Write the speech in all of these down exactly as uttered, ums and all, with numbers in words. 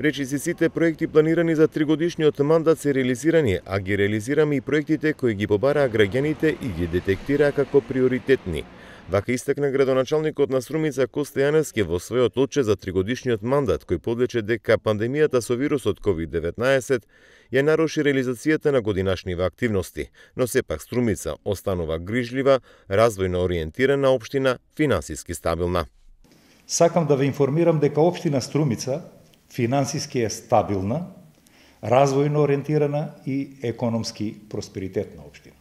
Речиси сите проекти планирани за тригодишниот мандат се реализирани, а ги реализираме и проектите кои ги побараа граѓаните и ги детектираа како приоритетни. Вака истакна градоначалникот на Струмица Коста Јаневски во својот отчет за тригодишниот мандат, кој подлече дека пандемијата со вирусот ковид деветнаесет ја наруши реализацијата на годинашниве активности, но сепак Струмица останува грижлива, развојно ориентирана општина, финансиски стабилна. Сакам да ве информирам дека општина Струмица финансиски е стабилна, развојно ориентирана и економски просперитетна општина.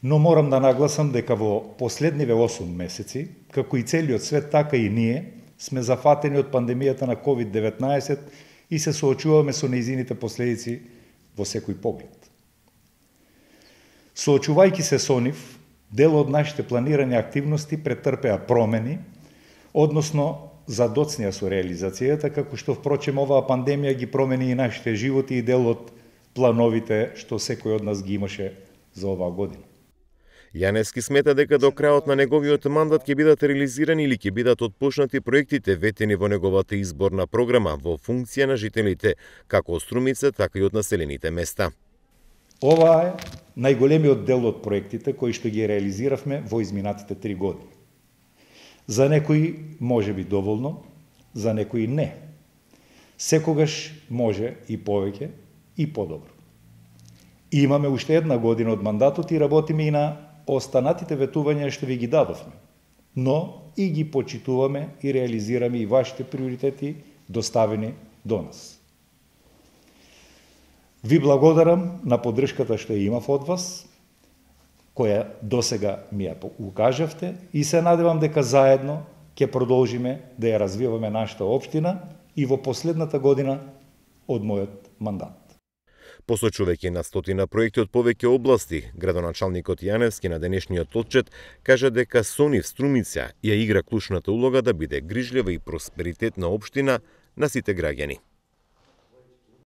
Но морам да нагласам дека во последниве осум месеци, како и целиот свет, така и ние, сме зафатени од пандемијата на ковид деветнаесет и се соочуваме со нејзините последици во секој поглед. Соочувајќи се со нив, дел од нашите планирани активности претрпеа промени, односно задоцнија со реализацијата, како што впрочем оваа пандемија ги промени и нашите животи и дел од плановите што секој од нас ги имаше за оваа година. Јаневски смета дека до крајот на неговиот мандат ќе бидат реализирани или ќе бидат отпочнати проектите ветени во неговата изборна програма во функција на жителите, како од Струмица, така и од населените места. Ова е најголемиот дел од проектите кои што ги реализиравме во изминатите три години. За некои може би доволно, за некои не. Секогаш може и повеќе и подобро. Имаме уште една година од мандатот и работиме и на останатите ветувања што ви ги дадовме, но и ги почитуваме и реализираме и вашите приоритети доставени до нас. Ви благодарам на поддршката што ја имав од вас, која досега ми ја укажавте и се надевам дека заедно ќе продолжиме да ја развиваме нашата општина и во последната година од мојот мандат. Посочувајќи на стотина проекти од повеќе области, градоначалникот Јаневски на денешниот отчет кажа дека со нив Струмица ја игра клучната улога да биде грижлива и просперитетна општина на сите граѓани.